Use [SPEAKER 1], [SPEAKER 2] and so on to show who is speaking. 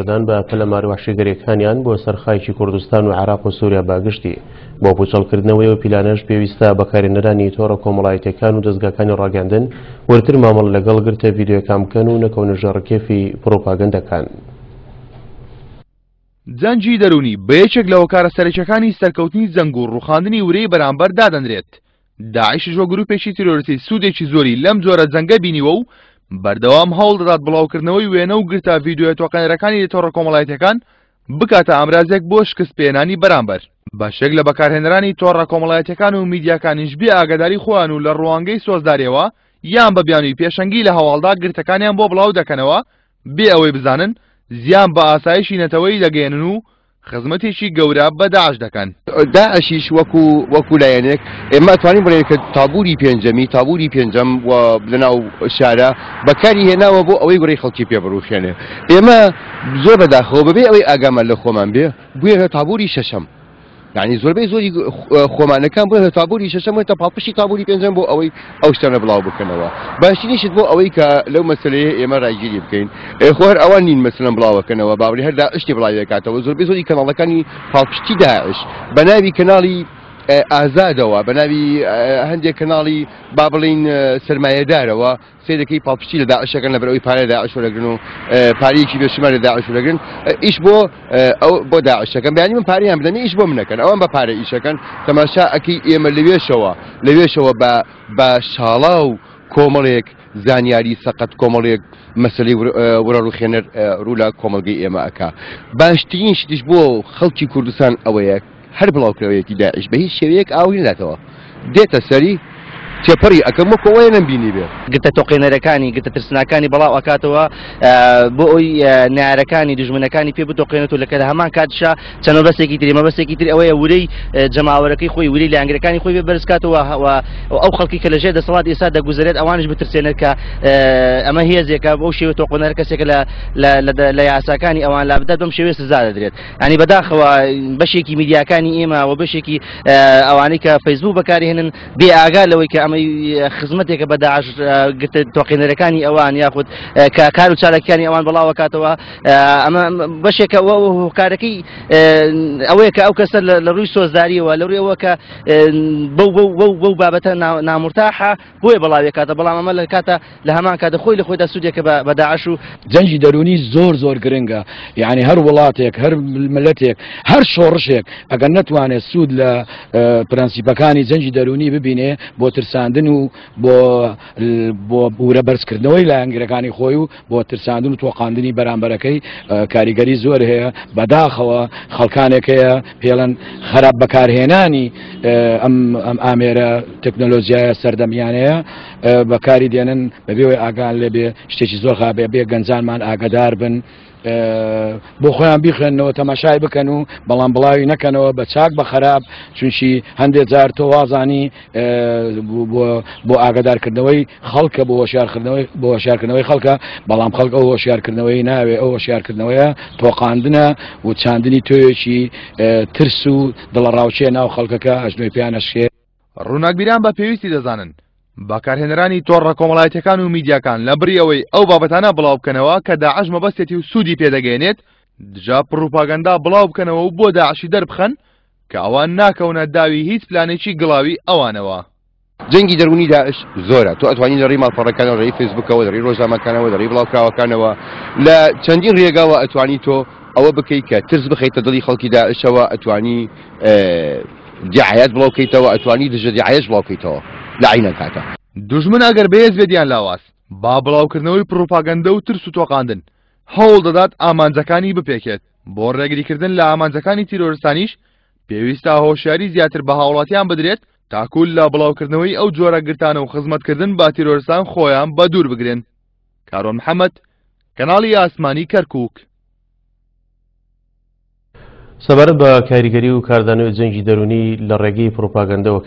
[SPEAKER 1] دان بە پەلامارە وەحشیگەریەکانیان بۆ سەر خاکی کوردستان و عێراق و سوریا بە گشتی. بۆ پوچەڵکردنەوەی ئەو پیلانەش پێویستە بەکارهێنەرانی تۆڕە کۆمەڵایەتیەکان و دەزگاکانی ڕاگەیاندن وردتر مامەڵە لەگەڵ گرتە ڤیدیۆیەکان بکەن و نەکەونە ژێر ڕکێفی پڕوپاگەندەکان.
[SPEAKER 2] جەنگی دەروونی بە یەکێک لە هۆکارە سەرەکیەکانی سەرکەوتنی جەنگ و ڕووخاندنی ورەی بەرامبەر دادەنرێت. داعشیش وەک گروپێکی تیرۆریستی سوودێکی زۆری لەم جۆرە جەنگە بینیوە و بەردەوام هەوڵ دەدات بڵاوکردنەوەی وێنە و گرتە ڤیدیۆیە تۆقێنەرەکانی لە تۆڕە کۆمەڵایەتیەکان بکاتە ئامرازێک بۆ شکست پێهێنانی بەرامبەر. بەشێک لە بەکارهێنەرانی تۆڕە کۆمەڵایەتیەکان و میدیاکانیش بێ ئاگاداری خۆیان و لە ڕوانگەی سۆزداریەوە یان بە بیانووی پێشەنگی لە هەواڵدا گرتەکانیان بۆ بڵاو دەکەنەوە بێ ئەوەی بزانن زیان بە ئاسایشی نەتەوەیی دەگەیەنن و خزمەتێکی گەورە بە داعش دەکەن.
[SPEAKER 3] داعشیش وەکو وەکو لایەنێک ئێمە ئەتوانین بڵێین کە تابوری پێنجەمی تابوری پێنجەم و لەناو شارە بەکاری هێناوە بۆ ئەوەی گوڕی خەڵکی پێ بڕوخێنێ. ئێمە زۆر بەداخەوە بەبێ ئەوەی ئاگامان لە خۆمان بێ بووینە تابوری شەشەم. یعنی زۆربەی زۆری خۆمانەکان بوونەتە تابوری شەشەم بوونەتە پاڵپشتی تابوری پێنجەم بۆ ئەوەی ئەو شتانە بڵاو بکەنەوە. باشترین شت بۆ ئەوەی کە لەو مەسەلەیە ئێمە ڕایگیری بکەین خۆ هەر ئەوان نین مەسەلەن بڵاوەکەنەوە باوەری هەر داعشی بڵاویەکاتەوە زۆربەی زۆری کەناڵەکانی پاڵپشتی داعش بە ناوی کەناڵی ئازادەوە بە ناوی هەندێک کەناڵی با بڵین سرمایەدارەوە سەیرەکەی پاڵپشتی لە داعشەکەن لەبەر ئەوەی پارە داعش وەرەگرن و پارەیەکی بێشومار لە داعش وەرەگرن ئیش بۆ ئەو بۆ داعشەکەن بەیانی من پارەیان بدەن ئیش بۆ منەکەن ئەوان بە پارە ئیشەکەن تەماشا ئەکەی ئێمە لەوێشەوە لەوێشەوە بە بە شاڵاو کۆمەڵێک زانیاری سەقەت کۆمەڵێک مەسلەی ورە ڕوخێنەر ڕوو لە کۆمەڵگەی ئێمە ئەکا باشترین شتیش بۆ خەڵکی کوردستان ئەوەیە هەر بڵاوکراوەیەکی داعش بە هیچ شێوەیەک ئاوری ناداتەوە دێتە سەری تێپەڕی ئەکەم وەکو ئەوەیە نەمبینیبێ.
[SPEAKER 4] گرتە تۆقێنەرەکانی، گرتە ترسناکانی بڵاو ئەکاتەوە بۆ ئەوی نەیارەکانی، دوژمنەکانی پێ بتۆقێنێت و لە هەمان کاتیشا چەند مەبەستێکی تری، مەبەستێکی تر ئەوەیە ورەی جەماوەرەکەی خۆی، ورەی لایەنگرەکانی خۆی پێ بەرز کاتەوە و ئەو خەڵکی کە لەژێر دەسەڵات ئێستا دەگوزەرێت ئەوانیش بترسێنێت کە ئەمە هێزێکە بەو شێوە تۆقێنەر کەسێکە لە یاساکانی ئەوان لابدات بەم شێوەیە سزا دەدرێت. ینی بەداخەوە بەشێکی میدیاکانی ئێمە و بەشێکی ئەوانەی کە فەیسبوک بەکارهێنن بێ ئاگا لەوەی کە ئەمەی خزمەتێکە بە داعش گرتە تۆقێنەرەکانی ئەوان یاخود کە کار و چالاکیانی ئەوان بڵاوەکاتەوە ئەمە بەشێکە هۆکارەکەی ئەوەیە کە ئەو کەسە لە ڕووی سۆزداریەوە لە ڕووی ئەوە کە بەو بەو بەو بەو بابەتە نامرتاحە بۆیە بڵاوێکاتە بەڵام ئەمە لە کاتە لە هەمان کاتە خۆی لە خۆیدا سوودێکە بە داعش و
[SPEAKER 5] جەنگی دەروونی زۆر زۆر گرنگە یعنی هەر وڵاتێک هەر ملەتێک هەر شۆڕشێک ئەگەر نەتوانێت سوود لە پرەنسیپەکانی جەنگی دەروونی ببینێ بۆ ترساندن و بۆ بۆ ورە بەرزکردنەوەی لایەنگرەکانی خۆی و بۆ ترساندن و تۆقاندنی بەرامبەرەکەی کاریگەری زۆر هەیە بەداخەوە خەڵکانێک هەیە پێڵەن خراپ بەکارهێنانی ئەم ئەم ئامێرە تەکنۆلۆژیایە سەردەمیانەیە بەکاری دێنن بەبێ ئەوەی ئاگان لێبێ شتێکی زۆر خابێ بێ گەنجانمان ئاگدار بن بۆ خۆیان بیخوێنەوە تەماشای بکەن و بەڵام بڵاوی نەکەنەوە بە چاک بە خراپ چونشی هەندێک جار تۆ وازانی بۆ ئاگادارکردنەوەی خەڵکە بۆ هۆشیارکردنەوەی بۆ هۆشیارکردنەوەی خەڵکە بەڵام خەڵک ئەو هۆشیارکردنەوەی ناوێ ئەو هۆشیارکردنەوەیە تۆقاندنە و چاندنی تۆیەکی ترس و دڵەڕاوکێ ناو خەڵکەکە ئەژنۆی پێیان ئەشکێ.
[SPEAKER 2] ڕووناکبیران بە پێویستی دەزانن بەکارهێنەرانی تۆڕە کۆمەڵایەتیەکان و میدیاکان لە بری ئەوەی ئەو بابەتانە بڵاو بکەنەوە کە داعش مەبەستێتی و سوودی پێدەگەیەنێت دژە پڕوپاگەندا بڵاو بکەنەوە و بۆ داعشی دەربخەن کە ئەوان ناکەونە داوی هیچ پلانێکی گڵاوی ئەوانەوە.
[SPEAKER 3] جەنگی دەروونی داعش زۆرە، تۆ ئەتوانی لە ڕێی ماڵپەڕەکانەوە، لە ڕێی فەیسبوکەوە، لە ڕێی ڕۆژنامەکانەوە، لە ڕێی بڵاوکراوەکانەوە، لە چەندین ڕێگاوە ئەتوانی تۆ ئەوە بکەی کە ترس بخەیتە دڵی خەڵکی داعشەوە، ئەتوانی دیعایات بڵاو کەیتەوە، ئەتوانی دژە دیعایەش بڵاو کەیتەوە لە عەینەن کاتە.
[SPEAKER 2] دوژمن ئەگەر بەهێز بێت یان لاواز، با بڵاوکردنەوەی پڕوپاگەندە و ترس و تۆقاندن هەوڵ دەدات ئامانجەکانی بپێکێت، بۆ ڕێگریکردن لە ئامانجەکانی تیرۆرستانیش پێویستە هۆشیاری زیاتر بە هاوڵاتیان بدرێت تاکو لە بڵاوکردنەوەی ئەو جۆرە گرتانە و خزمەتکردن بە تیرۆرستان خۆیان بە دوور بگرن. کاروان محەمەد، کەناڵی ئاسمانی کەرکوک.
[SPEAKER 1] سەبارەت بە کاریگەری و کاردانەوەی جەنگی دەروونی لە ڕێگەی پڕوپاگەندەوە.